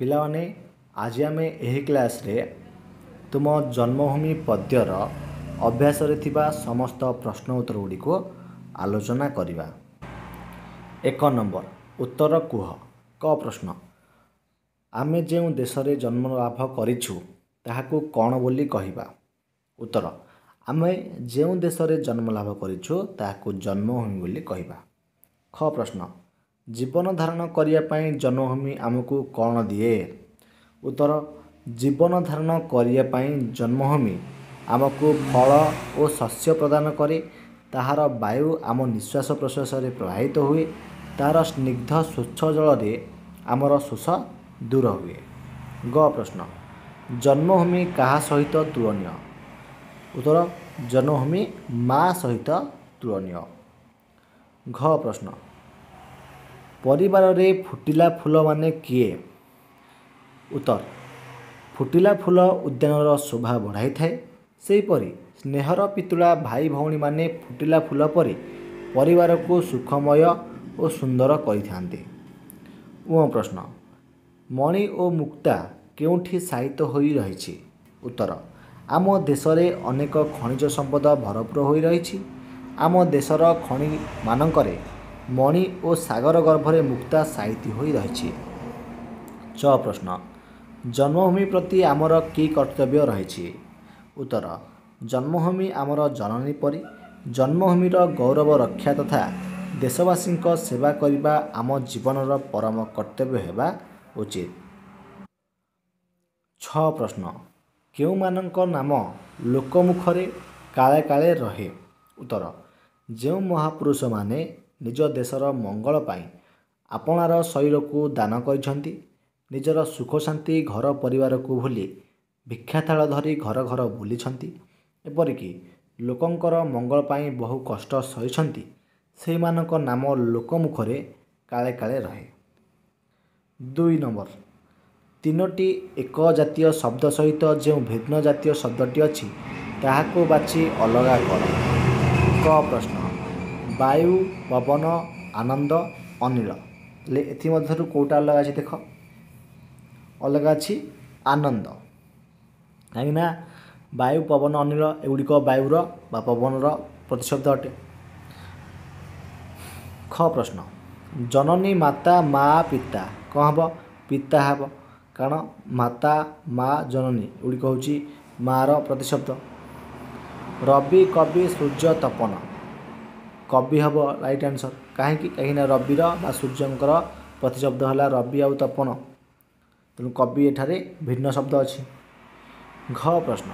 ପିଲାମାନେ, ଆଜି ଆମେ ଏହି କ୍ଲାସ୍ରେ ତୁମ ଜନ୍ମଭୂମି ପଦ୍ୟର ଅଭ୍ୟାସରେ ଥିବା ସମସ୍ତ ପ୍ରଶ୍ନ ଉତ୍ତର ଗୁଡ଼ିକୁ ଆଲୋଚନା କରିବା। 1 ନମ୍ବର, ଉତ୍ତର କୁହ। କ ପ୍ରଶ୍ନ, ଆମେ ଯେଉଁ ଦେଶରେ ଜନ୍ମ ଲାଭ କରିଛୁ ତାହାକୁ କ'ଣ ବୋଲି କହିବା? ଉତ୍ତର, ଆମେ ଯେଉଁ ଦେଶରେ ଜନ୍ମ ଲାଭ କରିଛୁ ତାହାକୁ ଜନ୍ମଭୂମି ବୋଲି କହିବା। ଖ ପ୍ରଶ୍ନ, ଜୀବନ ଧାରଣ କରିବା ପାଇଁ ଜନ୍ମଭୂମି ଆମକୁ କ'ଣ ଦିଏ? ଉତ୍ତର, ଜୀବନ ଧାରଣ କରିବା ପାଇଁ ଜନ୍ମଭୂମି ଆମକୁ ଫଳ ଓ ଶସ୍ୟ ପ୍ରଦାନ କରେ। ତାହାର ବାୟୁ ଆମ ନିଶ୍ୱାସ ପ୍ରଶ୍ୱାସରେ ପ୍ରବାହିତ ହୁଏ। ତାହାର ସ୍ନିଗ୍ଧ ସ୍ୱଚ୍ଛ ଜଳରେ ଆମର ଶୋଷ ଦୂର ହୁଏ। ଗ ପ୍ରଶ୍ନ, ଜନ୍ମଭୂମି କାହା ସହିତ ତୁଳନୀୟ? ଉତ୍ତର, ଜନ୍ମଭୂମି ମା ସହିତ ତୁଳନୀୟ। ଘ ପ୍ରଶ୍ନ, ପରିବାରରେ ଫୁଟିଲା ଫୁଲମାନେ କିଏ? ଉତ୍ତର, ଫୁଟିଲା ଫୁଲ ଉଦ୍ୟାନର ଶୋଭା ବଢ଼ାଇଥାଏ। ସେହିପରି ସ୍ନେହର ପିତୁଳା ଭାଇ ଭଉଣୀମାନେ ଫୁଟିଲା ଫୁଲ ପରି ପରିବାରକୁ ସୁଖମୟ ଓ ସୁନ୍ଦର କରିଥାନ୍ତି। ଉଁ ପ୍ରଶ୍ନ, ମଣି ଓ ମୁକ୍ତା କେଉଁଠି ଶାୟିତ ହୋଇ ରହିଛି? ଉତ୍ତର, ଆମ ଦେଶରେ ଅନେକ ଖଣିଜ ସମ୍ପଦ ଭରପୁର ହୋଇ ରହିଛି। ଆମ ଦେଶର ଖଣିମାନଙ୍କରେ ମଣି ଓ ସାଗର ଗର୍ଭରେ ମୁକ୍ତା ସାଇତି ହୋଇ ରହିଛି। ଚ ପ୍ରଶ୍ନ, ଜନ୍ମଭୂମି ପ୍ରତି ଆମର କି କର୍ତ୍ତବ୍ୟ ରହିଛି? ଉତ୍ତର, ଜନ୍ମଭୂମି ଆମର ଜନନୀ ପରି। ଜନ୍ମଭୂମିର ଗୌରବ ରକ୍ଷା ତଥା ଦେଶବାସୀଙ୍କ ସେବା କରିବା ଆମ ଜୀବନର ପରମ କର୍ତ୍ତବ୍ୟ ହେବା ଉଚିତ। ଛଅ ପ୍ରଶ୍ନ, କେଉଁମାନଙ୍କ ନାମ ଲୋକମୁଖରେ କାଳେ କାଳେ ରହେ? ଉତ୍ତର, ଯେଉଁ ମହାପୁରୁଷମାନେ ନିଜ ଦେଶର ମଙ୍ଗଳ ପାଇଁ ଆପଣାର ଶରୀରକୁ ଦାନ କରିଛନ୍ତି, ନିଜର ସୁଖଶାନ୍ତି ଘର ପରିବାରକୁ ଭୁଲି ଭିକ୍ଷାଥାଳ ଧରି ଘର ଘର ବୁଲିଛନ୍ତି, ଏପରିକି ଲୋକଙ୍କର ମଙ୍ଗଳ ପାଇଁ ବହୁ କଷ୍ଟ ସହିଛନ୍ତି, ସେହିମାନଙ୍କ ନାମ ଲୋକମୁଖରେ କାଳେ କାଳେ ରହେ। 2 ନମ୍ବର, 3ଟି ଏକ ଜାତୀୟ ଶବ୍ଦ ସହିତ ଯେଉଁ ଭିନ୍ନ ଜାତୀୟ ଶବ୍ଦଟି ଅଛି ତାହାକୁ ବାଛି ଅଲଗା କର। କ ପ୍ରଶ୍ନ, ବାୟୁ, ପବନ, ଆନନ୍ଦ, ଅନିଳ। ହେଲେ ଏଥିମଧ୍ୟରୁ କେଉଁଟା ଅଲଗା ଅଛି? ଦେଖ, ଅଲଗା ଅଛି ଆନନ୍ଦ। କାହିଁକିନା ବାୟୁ, ପବନ, ଅନିଳ ଏଗୁଡ଼ିକ ବାୟୁର ବା ପବନର ପ୍ରତିଶବ୍ଦ ଅଟେ। ଖ ପ୍ରଶ୍ନ, ଜନନୀ, ମାତା, ମା, ପିତା। କ'ଣ ହେବ? ପିତା ହେବ, କାରଣ ମାତା, ମା, ଜନନୀ ଏଗୁଡ଼ିକ ହେଉଛି ମାଆର ପ୍ରତିଶବ୍ଦ। ରବି, କବି, ସୂର୍ଯ୍ୟ, ତପନ। କବି ହେବ ରାଇଟ୍ ଆନ୍ସର୍। କାହିଁକି? କାହିଁକିନା ରବିର ବା ସୂର୍ଯ୍ୟଙ୍କର ପ୍ରତିଶବ୍ଦ ହେଲା ରବି ଆଉ ତପନ, ତେଣୁ କବି ଏଠାରେ ଭିନ୍ନ ଶବ୍ଦ ଅଛି। ଘ ପ୍ରଶ୍ନ,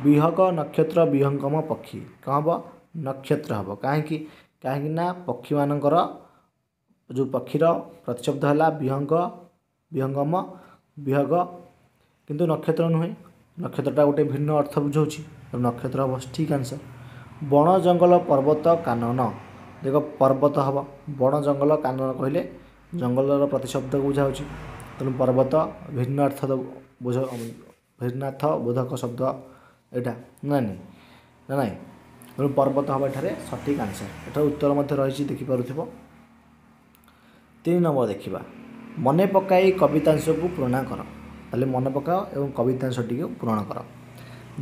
ବିହଗ, ନକ୍ଷତ୍ର, ବିହଙ୍ଗମ, ପକ୍ଷୀ। କ'ଣ ହେବ? ନକ୍ଷତ୍ର ହେବ। କାହିଁକି? କାହିଁକି ନା ପକ୍ଷୀମାନଙ୍କର ଯେଉଁ ପକ୍ଷୀର ପ୍ରତିଶବ୍ଦ ହେଲା ବିହଙ୍ଗ, ବିହଙ୍ଗମ, ବିହଗ, କିନ୍ତୁ ନକ୍ଷତ୍ର ନୁହେଁ। ନକ୍ଷତ୍ରଟା ଗୋଟେ ଭିନ୍ନ ଅର୍ଥ ବୁଝାଉଛି, ତେଣୁ ନକ୍ଷତ୍ର ହେବ ଠିକ୍ ଆନ୍ସର୍। ବଣ, ଜଙ୍ଗଲ, ପର୍ବତ, କାନନ। ଦେଖ, ପର୍ବତ ହେବ। ବଣ, ଜଙ୍ଗଲ, କାନନ କହିଲେ ଜଙ୍ଗଲର ପ୍ରତିଶବ୍ଦକୁ ବୁଝାଉଛି, ତେଣୁ ପର୍ବତ ଭିନ୍ନ ଅର୍ଥ ବୁଝ, ଭିନ୍ନାର୍ଥ ବୋଧକ ଶବ୍ଦ ଏଇଟା ନା ନାଇଁ ନା ନାଇଁ, ତେଣୁ ପର୍ବତ ହେବ ଏଠାରେ ସଠିକ୍ ଆନ୍ସର୍। ଏଠାରେ ଉତ୍ତର ମଧ୍ୟ ରହିଛି, ଦେଖିପାରୁଥିବ। 3 ନମ୍ବର ଦେଖିବା, ମନେ ପକାଇ କବିତାଂଶକୁ ପୂରଣ କର। ତାହେଲେ ମନେ ପକାଅ ଏବଂ କବିତାଂଶଟିକୁ ପୂରଣ କର।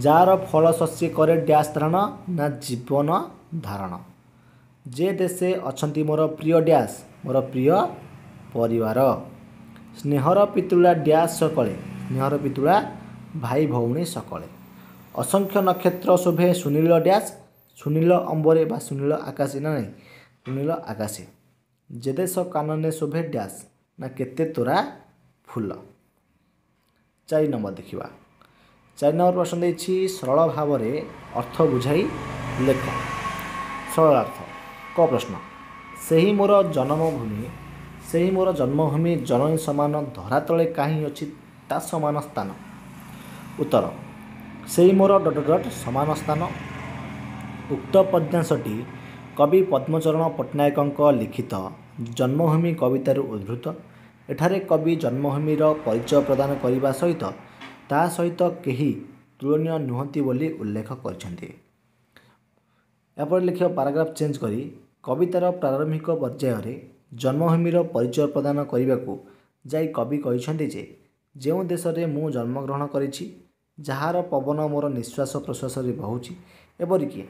ଯାହାର ଫଳ ଶସ୍ୟ କରେ ଡ୍ୟାସ୍ ଧାରଣ ନା ଜୀବନ ଧାରଣ। ଯେ ଦେଶେ ଅଛନ୍ତି ମୋର ପ୍ରିୟ ଡ୍ୟାସ୍, ମୋର ପ୍ରିୟ ପରିବାର। ସ୍ନେହର ପିତୁଳା ଡ୍ୟାସ୍ ସକଳେ, ସ୍ନେହର ପିତୁଳା ଭାଇ ଭଉଣୀ ସକଳେ। ଅସଂଖ୍ୟ ନକ୍ଷତ୍ର ଶୋଭେ ସୁନୀଳ ଡ୍ୟାସ୍, ସୁନୀଳ ଅମ୍ବରେ ବା ସୁନୀଳ ଆକାଶେ ନା ନାହିଁ, ସୁନୀଳ ଆକାଶେ। ଯେ ଦେଶ କାନନେ ଶୋଭେ ଡ୍ୟାସ୍ ନା କେତେ ତୋରା ଫୁଲ। 4 ନମ୍ବର ଦେଖିବା। 4 ନମ୍ବର ପ୍ରଶ୍ନ ଦେଇଛି, ସରଳ ଭାବରେ ଅର୍ଥ ବୁଝାଇ ଲେଖ। ସରଳ ଅର୍ଥ। କ ପ୍ରଶ୍ନ, ସେହି ମୋର ଜନ୍ମଭୂମି, ସେହି ମୋର ଜନ୍ମଭୂମି ଜନନୀ ସମାନ, ଧରାତଳେ କାହିଁ ଅଛି ତା ସମାନ ସ୍ଥାନ? ଉତ୍ତର, ସେଇ ମୋର ଡଟ୍ ଡଟ୍ ସମାନ ସ୍ଥାନ। ଉକ୍ତ ପଦ୍ୟାଂଶଟି କବି ପଦ୍ମଚରଣ ପଟ୍ଟନାୟକଙ୍କ ଲିଖିତ ଜନ୍ମଭୂମି କବିତାରୁ ଉଦ୍ଧୃତ। ଏଠାରେ କବି ଜନ୍ମଭୂମିର ପରିଚୟ ପ୍ରଦାନ କରିବା ସହିତ ତା ସହିତ କେହି ତୁଳନୀୟ ନୁହନ୍ତି ବୋଲି ଉଲ୍ଲେଖ କରିଛନ୍ତି। ଏହାପରେ ଲେଖିବ ପାରାଗ୍ରାଫ ଚେଞ୍ଜ କରି, କବିତାର ପ୍ରାରମ୍ଭିକ ପର୍ଯ୍ୟାୟରେ ଜନ୍ମଭୂମିର ପରିଚୟ ପ୍ରଦାନ କରିବାକୁ ଯାଇ କବି କହିଛନ୍ତି ଯେ ଯେଉଁ ଦେଶରେ ମୁଁ ଜନ୍ମଗ୍ରହଣ କରିଛି, ଯାହାର ପବନ ମୋର ନିଶ୍ୱାସ ପ୍ରଶ୍ୱାସରେ ବହୁଛି, ଏପରିକି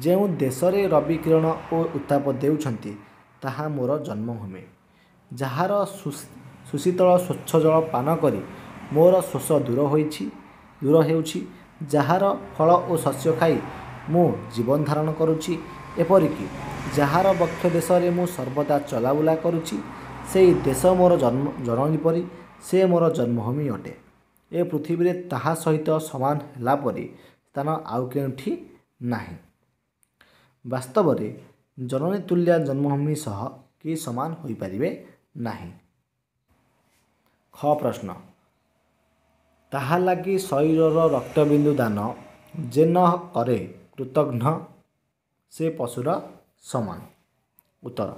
ଯେଉଁ ଦେଶରେ ରବି କିରଣ ଓ ଉତ୍ତାପ ଦେଉଛନ୍ତି, ତାହା ମୋର ଜନ୍ମଭୂମି। ଯାହାର ସୁଶୀତଳ ସ୍ୱଚ୍ଛ ଜଳ ପାନ କରି ମୋର ଶୋଷ ଦୂର ହେଉଛି, ଯାହାର ଫଳ ଓ ଶସ୍ୟ ଖାଇ ମୁଁ ଜୀବନ ଧାରଣ କରୁଛି, ଏପରିକି ଯାହାର ବକ୍ଷ ଦେଶରେ ମୁଁ ସର୍ବଦା ଚଲାବୁଲା କରୁଛି, ସେଇ ଦେଶ ମୋର ଜନ୍ମ ଜନନୀ ପରି, ସେ ମୋର ଜନ୍ମଭୂମି ଅଟେ। ଏ ପୃଥିବୀରେ ତାହା ସହିତ ସମାନ ହେଲା ପରି ସ୍ଥାନ ଆଉ କେଉଁଠି ନାହିଁ। ବାସ୍ତବରେ ଜନନୀ ତୁଲ୍ୟା ଜନ୍ମଭୂମି ସହ କେହି ସମାନ ହୋଇପାରିବେ ନାହିଁ। ଖ ପ୍ରଶ୍ନ, ତାହା ଲାଗି ଶରୀରର ରକ୍ତବିନ୍ଦୁ ଦାନ ଯେ ନ କରେ କୃତଘ୍ନ ସେ ପଶୁର ସମାନ। ଉତ୍ତର,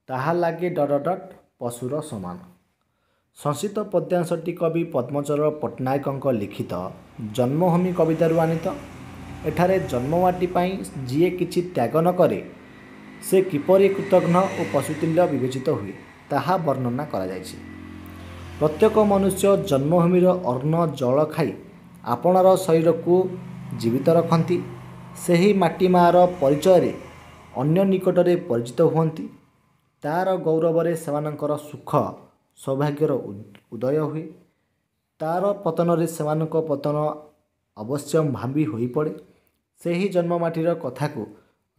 ତାହା ଲାଗି ଡଟ ଡଟ ପଶୁର ସମାନ। ସଂଶିତ ପଦ୍ୟାଂଶଟି କବି ପଦ୍ମଚରଣ ପଟ୍ଟନାୟକଙ୍କ ଲିଖିତ ଜନ୍ମଭୂମି କବିତାରୁ ଆନିତ। ଏଠାରେ ଜନ୍ମମାଟି ପାଇଁ ଯିଏ କିଛି ତ୍ୟାଗ ନ କରେ ସେ କିପରି କୃତଘ୍ନ ଓ ପଶୁତୁଲ୍ୟ ବିବେଚିତ ହୁଏ, ତାହା ବର୍ଣ୍ଣନା କରାଯାଇଛି। ପ୍ରତ୍ୟେକ ମନୁଷ୍ୟ ଜନ୍ମଭୂମିର ଅନ୍ନ ଜଳ ଖାଇ ଆପଣାର ଶରୀରକୁ ଜୀବିତ ରଖନ୍ତି। ସେହି ମାଟି ମାଆର ପରିଚୟରେ ଅନ୍ୟ ନିକଟରେ ପରିଚିତ ହୁଅନ୍ତି। ତା'ର ଗୌରବରେ ସେମାନଙ୍କର ସୁଖ ସୌଭାଗ୍ୟର ଉଦୟ ହୁଏ। ତା'ର ପତନରେ ସେମାନଙ୍କ ପତନ ଅବଶ୍ୟମ୍ଭାବୀ ହୋଇପଡ଼େ। ସେହି ଜନ୍ମମାଟିର କଥାକୁ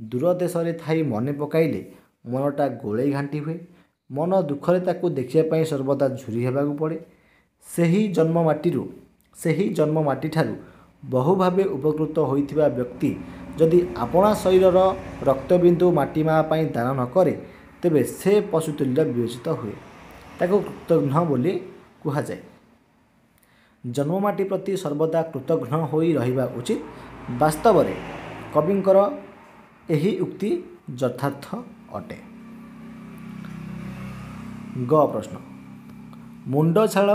ଦୂର ଦେଶରେ ଥାଇ ମନେ ପକାଇଲେ ମନଟା ଗୋଳେଇ ଘାଣ୍ଟି ହୁଏ। ମନ ଦୁଃଖରେ ତାକୁ ଦେଖିବା ପାଇଁ ସର୍ବଦା ଝୁରି ହେବାକୁ ପଡ଼େ। ସେହି ଜନ୍ମମାଟିଠାରୁ ବହୁ ଭାବେ ଉପକୃତ ହୋଇଥିବା ବ୍ୟକ୍ତି ଯଦି ଆପଣା ଶରୀରର ରକ୍ତବିନ୍ଦୁ ମାଟି ମା ପାଇଁ ଦାନ ନ କରେ, ତେବେ ସେ ପଶୁତୁଲ୍ୟ ବିବେଚିତ ହୁଏ, ତାକୁ କୃତଘ୍ନ ବୋଲି କୁହାଯାଏ। ଜନ୍ମମାଟି ପ୍ରତି ସର୍ବଦା କୃତଘ୍ନ ହୋଇ ରହିବା ଉଚିତ। ବାସ୍ତବରେ କବିଙ୍କର ଏହି ଉକ୍ତି ଯଥାର୍ଥ ଅଟେ। ଗ ପ୍ରଶ୍ନ, ମୁଣ୍ଡ ଝାଳ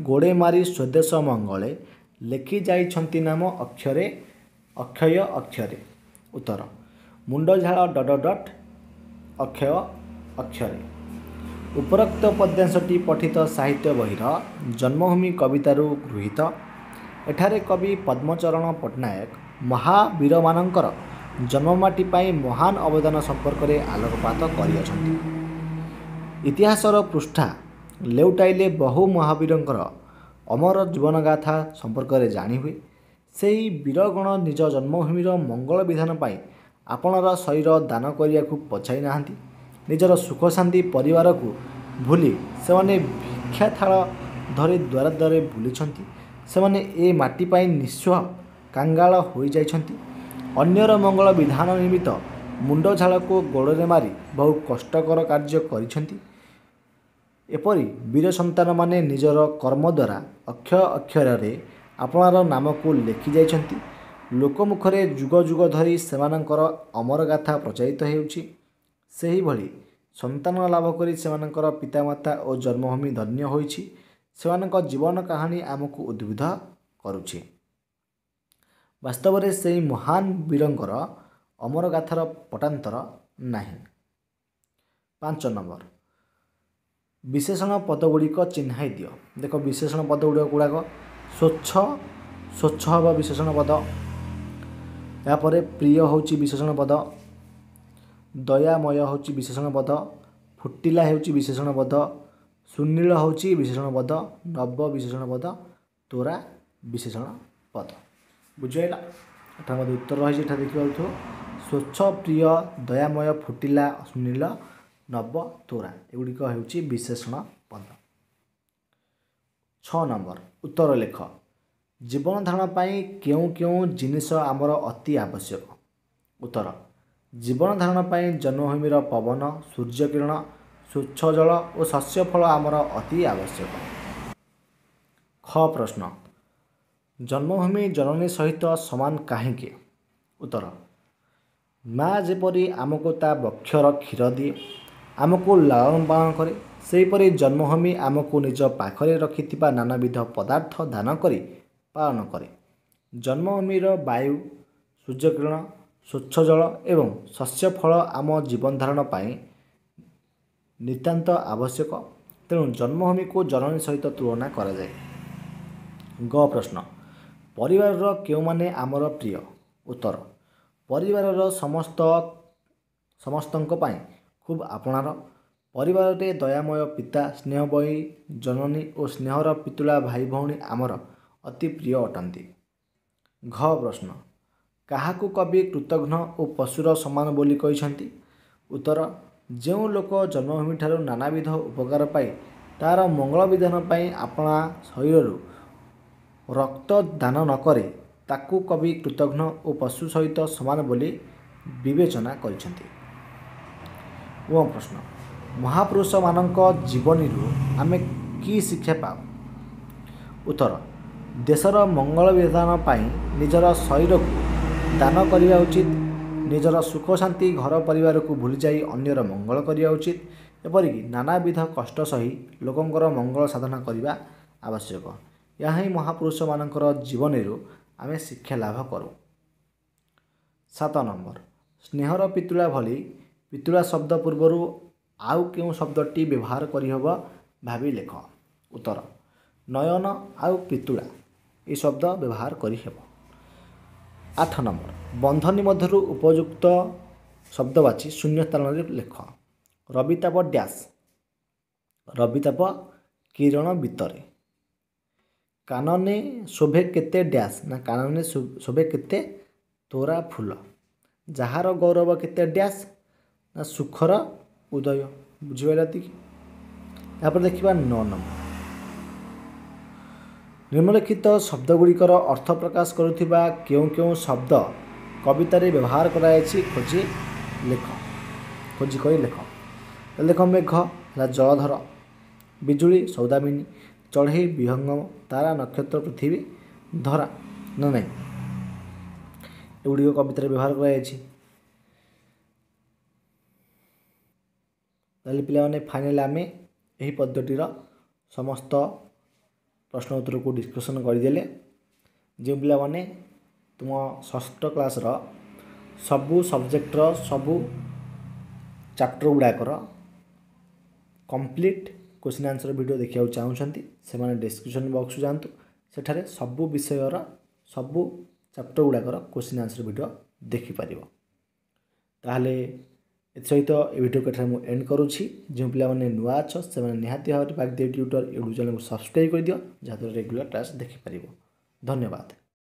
ଗୋଡ଼େ ମାରି ସ୍ୱଦେଶ ମଙ୍ଗଳେ ଲେଖି ଯାଇଛନ୍ତି ନାମ ଅକ୍ଷରେ ଅକ୍ଷୟ ଅକ୍ଷରେ। ଉତ୍ତର, ମୁଣ୍ଡ ଝାଳ ଡଟ ଡଟ ଅକ୍ଷୟ ଅକ୍ଷରେ। ଉପରୋକ୍ତ ପଦ୍ୟାଂଶଟି ପଠିତ ସାହିତ୍ୟ ବହିର ଜନ୍ମଭୂମି କବିତାରୁ ଗୃହୀତ। ଏଠାରେ କବି ପଦ୍ମଚରଣ ପଟ୍ଟନାୟକ ମହାବୀରମାନଙ୍କର ଜନ୍ମମାଟି ପାଇଁ ମହାନ ଅବଦାନ ସମ୍ପର୍କରେ ଆଲୋକପାତ କରିଅଛନ୍ତି। ଇତିହାସର ପୃଷ୍ଠା ଲେଉଟାଇଲେ ବହୁ ମହାବୀରଙ୍କର ଅମର ଜୀବନଗାଥା ସମ୍ପର୍କରେ ଜାଣିହୁଏ। ସେହି ବୀରଗଣ ନିଜ ଜନ୍ମଭୂମିର ମଙ୍ଗଳ ବିଧାନ ପାଇଁ ଆପଣାର ଶରୀର ଦାନ କରିବାକୁ ପଛାଇ ନାହାନ୍ତି। ନିଜର ସୁଖ ଶାନ୍ତି ପରିବାରକୁ ଭୁଲି ସେମାନେ ଭିକ୍ଷାଥାଳ ଧରି ଦ୍ୱାରେ ଦ୍ୱାରେ ବୁଲିଛନ୍ତି। ସେମାନେ ଏ ମାଟି ପାଇଁ ନିଃସ୍ୱ କାଙ୍ଗାଳ ହୋଇଯାଇଛନ୍ତି। ଅନ୍ୟର ମଙ୍ଗଳ ବିଧାନ ନିମିତ୍ତ ମୁଣ୍ଡ ଝାଳକୁ ଗୋଡ଼ରେ ମାରି ବହୁ କଷ୍ଟକର କାର୍ଯ୍ୟ କରିଛନ୍ତି। ଏପରି ବୀର ସନ୍ତାନମାନେ ନିଜର କର୍ମ ଦ୍ୱାରା ଅକ୍ଷୟ ଅକ୍ଷରରେ ଆପଣାର ନାମକୁ ଲେଖି ଯାଇଛନ୍ତି। ଲୋକମୁଖରେ ଯୁଗ ଯୁଗ ଧରି ସେମାନଙ୍କର ଅମର ଗାଥା ପ୍ରଚାରିତ ହେଉଛି। ସେହିଭଳି ସନ୍ତାନ ଲାଭ କରି ସେମାନଙ୍କର ପିତାମାତା ଓ ଜନ୍ମଭୂମି ଧନ୍ୟ ହୋଇଛି। ସେମାନଙ୍କ ଜୀବନ କାହାଣୀ ଆମକୁ ଉଦ୍ବୁଦ୍ଧ କରୁଛି। ବାସ୍ତବରେ ସେହି ମହାନ ବୀରଙ୍କର ଅମର ଗାଥାର ପଟାନ୍ତର ନାହିଁ। 5 ନମ୍ବର, ବିଶେଷଣ ପଦଗୁଡ଼ିକ ଚିହ୍ନାଇ ଦିଅ। ଦେଖ, ବିଶେଷଣ ପଦ ଗୁଡ଼ାକ ସ୍ୱଚ୍ଛ, ସ୍ୱଚ୍ଛ ହେବ ବିଶେଷଣ ପଦ। ଏହାପରେ ପ୍ରିୟ ହେଉଛି ବିଶେଷଣ ପଦ, ଦୟାମୟ ହେଉଛି ବିଶେଷଣ ପଦ, ଫୁଟିଲା ହେଉଛି ବିଶେଷଣ ପଦ, ସୁନୀଳ ହେଉଛି ବିଶେଷଣ ପଦ, ନବ ବିଶେଷଣ ପଦ, ତୋରା ବିଶେଷଣ ପଦ। ବୁଝିହେଲା? ଏଠାରେ ମଧ୍ୟ ଉତ୍ତର ରହିଛି, ଏଠାରେ ଦେଖିପାରୁଥିବ ସ୍ୱଚ୍ଛ, ପ୍ରିୟ, ଦୟାମୟ, ଫୁଟିଲା, ସୁନୀଳ, ନବ, ତୋରା ଏଗୁଡ଼ିକ ହେଉଛି ବିଶେଷଣ ପଦ। 6 ନମ୍ବର, ଉତ୍ତର ଲେଖ। ଜୀବନ ଧାରଣ ପାଇଁ କେଉଁ କେଉଁ ଜିନିଷ ଆମର ଅତି ଆବଶ୍ୟକ? ଉତ୍ତର, ଜୀବନ ଧାରଣ ପାଇଁ ଜନ୍ମଭୂମିର ପବନ, ସୂର୍ଯ୍ୟକିରଣ, ସ୍ୱଚ୍ଛ ଜଳ ଓ ଶସ୍ୟ ଫଳ ଆମର ଅତି ଆବଶ୍ୟକ। ଖ ପ୍ରଶ୍ନ, ଜନ୍ମଭୂମି ଜନନୀ ସହିତ ସମାନ କାହିଁକି? ଉତ୍ତର, ମା ଯେପରି ଆମକୁ ତା ବକ୍ଷର କ୍ଷୀର ଦିଏ, ଆମକୁ ଲାଳନ ପାଳନ କରେ, ସେହିପରି ଜନ୍ମଭୂମି ଆମକୁ ନିଜ ପାଖରେ ରଖିଥିବା ନାନାବିଧ ପଦାର୍ଥ ଦାନ କରି ପାଳନ କରେ। ଜନ୍ମଭୂମିର ବାୟୁ, ସୂର୍ଯ୍ୟକିରଣ, ସ୍ୱଚ୍ଛ ଜଳ ଏବଂ ଶସ୍ୟ ଫଳ ଆମ ଜୀବନ ଧାରଣ ପାଇଁ ନିତାନ୍ତ ଆବଶ୍ୟକ। ତେଣୁ ଜନ୍ମଭୂମିକୁ ଜନନୀ ସହିତ ତୁଳନା କରାଯାଏ। ଗ ପ୍ରଶ୍ନ, ପରିବାରର କେଉଁମାନେ ଆମର ପ୍ରିୟ? ଉତ୍ତର, ପରିବାରର ସମସ୍ତଙ୍କ ପାଇଁ ଖୁବ୍ ଆପଣାର। ପରିବାରରେ ଦୟାମୟ ପିତା, ସ୍ନେହମୟୀ ଜନନୀ ଓ ସ୍ନେହର ପିତୁଳା ଭାଇ ଭଉଣୀ ଆମର ଅତି ପ୍ରିୟ ଅଟନ୍ତି। ଘ ପ୍ରଶ୍ନ, କାହାକୁ କବି କୃତଘ୍ନ ଓ ପଶୁର ସମାନ ବୋଲି କହିଛନ୍ତି? ଉତ୍ତର, ଯେଉଁ ଲୋକ ଜନ୍ମଭୂମିଠାରୁ ନାନାବିଧ ଉପକାର ପାଇ ତା'ର ମଙ୍ଗଳ ବିଧାନ ପାଇଁ ଆପଣା ଶରୀରରୁ ରକ୍ତ ଦାନ ନ କରେ, ତାକୁ କବି କୃତଘ୍ନ ଓ ପଶୁ ସହିତ ସମାନ ବୋଲି ବିବେଚନା କରିଛନ୍ତି। ଓ ପ୍ରଶ୍ନ, ମହାପୁରୁଷମାନଙ୍କ ଜୀବନୀରୁ ଆମେ କି ଶିକ୍ଷା ପାଉ? ଉତ୍ତର, ଦେଶର ମଙ୍ଗଳ ବିଧାନ ପାଇଁ ନିଜର ଶରୀରକୁ ଦାନ କରିବା ଉଚିତ। ନିଜର ସୁଖ ଶାନ୍ତି ଘର ପରିବାରକୁ ଭୁଲିଯାଇ ଅନ୍ୟର ମଙ୍ଗଳ କରିବା ଉଚିତ। ଏପରିକି ନାନାବିଧ କଷ୍ଟ ସହି ଲୋକଙ୍କର ମଙ୍ଗଳ ସାଧନା କରିବା ଆବଶ୍ୟକ। ଏହା ହିଁ ମହାପୁରୁଷମାନଙ୍କର ଜୀବନୀରୁ ଆମେ ଶିକ୍ଷା ଲାଭ କରୁ। 7 ନମ୍ବର, ସ୍ନେହର ପିତୁଳା ଭଳି ପିତୁଳା ଶବ୍ଦ ପୂର୍ବରୁ ଆଉ କେଉଁ ଶବ୍ଦଟି ବ୍ୟବହାର କରିହେବ ଭାବି ଲେଖ। ଉତ୍ତର, ନୟନ ଆଉ ପିତୁଳା ଏ ଶବ୍ଦ ବ୍ୟବହାର କରିହେବ। 8 ନମ୍ବର, ବନ୍ଧନୀ ମଧ୍ୟରୁ ଉପଯୁକ୍ତ ଶବ୍ଦ ବାଛି ଶୂନ୍ୟ ସ୍ଥାନରେ ଲେଖ। ରବିତାପ ଡ୍ୟାସ୍, ରବିତାପ କିରଣ ବିତରେ। କାନନେ ଶୋଭେ କେତେ ଡ୍ୟାସ୍, ନା କାନନେ ଶୋଭେ କେତେ ତୋରା ଫୁଲ। ଯାହାର ଗୌରବ କେତେ ଡ୍ୟାସ୍, ନା ସୁଖର ଉଦୟ। ବୁଝିପାରିଲ ଏତିକି? ତାପରେ ଦେଖିବା 9 ନମ୍ବର, ନିମ୍ନଲିଖିତ ଶବ୍ଦଗୁଡ଼ିକର ଅର୍ଥ ପ୍ରକାଶ କରୁଥିବା କେଉଁ କେଉଁ ଶବ୍ଦ କବିତାରେ ବ୍ୟବହାର କରାଯାଇଛି ଖୋଜି ଲେଖ, ଖୋଜି କରି ଲେଖ। ତାହେଲେ ଦେଖ, ମେଘ ହେଲା ଜଳଧର, ବିଜୁଳି ସୌଦାମିନୀ, ଚଢ଼େଇ ବିହଙ୍ଗମ, ତାରା ନକ୍ଷତ୍ର ପୃଥିବୀ ଧରା, ନା ନାହିଁ? ଏଗୁଡ଼ିକ କବିତାରେ ବ୍ୟବହାର କରାଯାଇଛି। ତାହେଲେ ପିଲାମାନେ, ଫାଇନାଲ୍ ଆମେ ଏହି ପଦ୍ୟଟିର ସମସ୍ତ ପ୍ରଶ୍ନ ଉତ୍ତରକୁ ଡିସ୍କସନ୍ କରିଦେଲେ। ଯେଉଁ ପିଲାମାନେ ତୁମ ଷଷ୍ଠ କ୍ଲାସ୍ର ସବୁ ସବଜେକ୍ଟର ସବୁ ଚାପ୍ଟର ଗୁଡ଼ାକର କମ୍ପ୍ଲିଟ୍ କୋଶ୍ଚିନ୍ ଆନ୍ସର୍ ଭିଡ଼ିଓ ଦେଖିବାକୁ ଚାହୁଁଛନ୍ତି, ସେମାନେ ଡିସ୍କ୍ରିପସନ୍ ବକ୍ସକୁ ଯାଆନ୍ତୁ, ସେଠାରେ ସବୁ ବିଷୟର ସବୁ ଚାପ୍ଟର ଗୁଡ଼ାକର କୋଶ୍ଚିନ୍ ଆନ୍ସର୍ ଭିଡ଼ିଓ ଦେଖିପାରିବ। ତାହେଲେ ଏଥିସହିତ ଏ ଭିଡ଼ିଓକୁ ଏଠାରେ ମୁଁ ଏଣ୍ଡ କରୁଛି। ଯେଉଁ ପିଲାମାନେ ନୂଆ ଅଛ, ସେମାନେ ନିହାତି ଭାବରେ ବାଗଦେବୀ ଟ୍ୟୁଟର ୟୁଟ୍ୟୁବ୍ ଚ୍ୟାନେଲକୁ ସବସ୍କ୍ରାଇବ୍ କରିଦିଅ, ଯାହାଦ୍ୱାରା ରେଗୁଲାର କ୍ଲାସ୍ ଦେଖିପାରିବ। ଧନ୍ୟବାଦ।